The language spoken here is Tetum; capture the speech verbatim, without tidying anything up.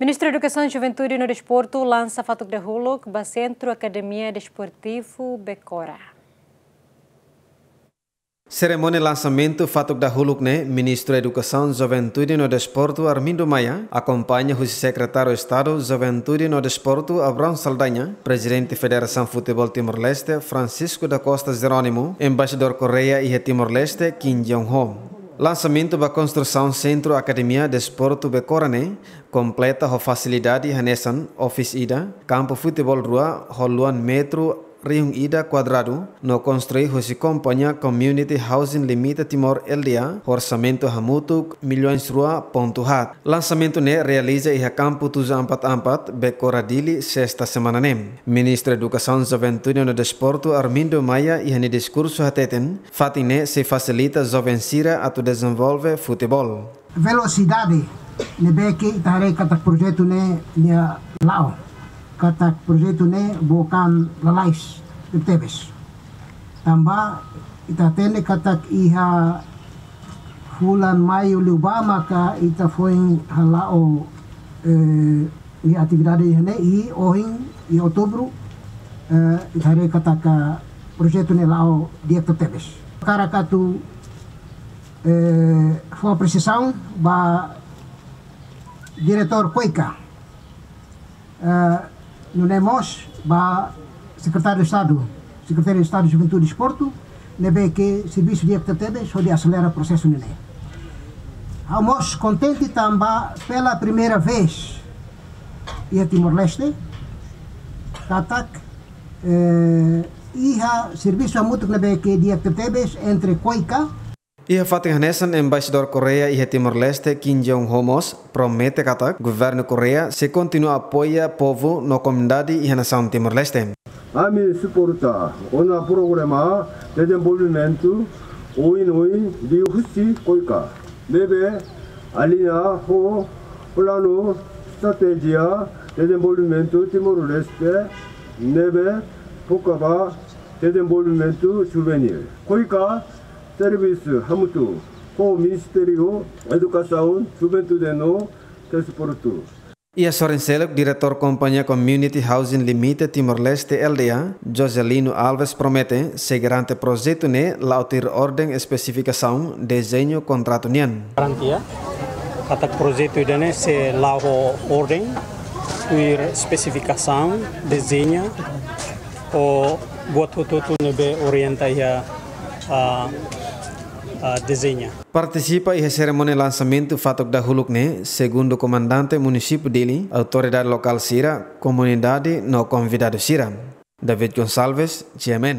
Ministru Edukasaun, Juventude no Desportu lansa fatuk dahuluk ba Sentru Akademia Desportivu Becora. Serimónia lansamentu fatuk dahuluk ne'e, Ministru Edukasaun, Juventude no Desportu, Armindo Maia, akompaña husi Sekretáriu Estadu Juventude no Desportu, Abrão Saldanha, Prezidente Federasaun Futeból Timor-Leste, Francisco da Costa Jerónimo, Embaixadór Koreia iha Timor-Leste, Kim Jong-ho. Lansamentu ba konstrusaun Sentru Akademia Desportu Becora ne'e kompleta ho fasilidade hanesan office ida, kampu futeból rua ho luan metru rihun ida kuadradu, no konstrui husi kompañia Community Housing Limited Timor, L D A, ho orsamentu hamutuk milhões rua pontu haat. Lansamentu ne'e realiza iha kampu tujuh empat empat, Becora, Dili, sesta semana ne'e. Ministru Edukasaun, Juventude no Desportu, Armindo Maia, iha nia diskursu hateten, fatin ne'e sei fasilita joven sira atu dezenvolve futeból. Velosidade ne'ebé ke ita haree katak projetu ne'e nia la'o, katak projetu ne'e bukan lalais tebes. Tanba ita hatene katak iha fulan Maiu liubá maka ita foin hala'o, eh, iha atividade iha ne'e, i ohin iha Outubru, eh, ita haree katak projetu ne'e la'o di'ak tebes. Hakarak atu, eh, fó apresiasaun ba Diretór KOICA, eh, nune'e mós ba Sekretáriu Estadu, Sekretáriu Estadu Juventude Desportu, ne'ebé ke servisu di'ak tebes hodi aselera prosesu ne'e. Ha'u mós kontente tanba pela primeira vez iha Timor-Leste, katak, eh, iha servisu hamutuk ne'ebé ke di'ak tebes entre KOICA. Iha fatin hanesan, Embaixadór Koreia iha Timor-Leste, Kim Jong-ho mós promete katak Governu Koreia sei kontinua apoia povu no komunidade iha nasaun Timor-Leste. Ami suporta ona programa dezenvolvimentu oin-oin liuhusi KOICA, ne'ebé aliña ho planu estratéjia dezenvolvimentu Timor-Leste, ne'ebé foka ba dezenvolvimentu juvenil. KOICA servisu hamutuk ho Ministériu Edukasaun, Juventude no Desportu. Iha sorin seluk, Diretór Kompañia Community Housing Limited Timor-Leste, L D A, Joselino Alves, promete sei garante projetu ne'e la'o tuir orden, espesifikasaun, dezeñu, kontratu nian. Garantia katak projetu ida-ne'e sei la'o ho orden, tuir espesifikasaun, dezeñu, ho buat hotu-hotu ne'ebé orienta iha, ah, ah, dezeñu. Partisipa iha serimónia lansamentu fatuk dahuluk ne'e, segundu Komandante Munisípiu Dili, autoridade lokál sira, komunidade no konvidadu sira. David Gonçalves, G M N.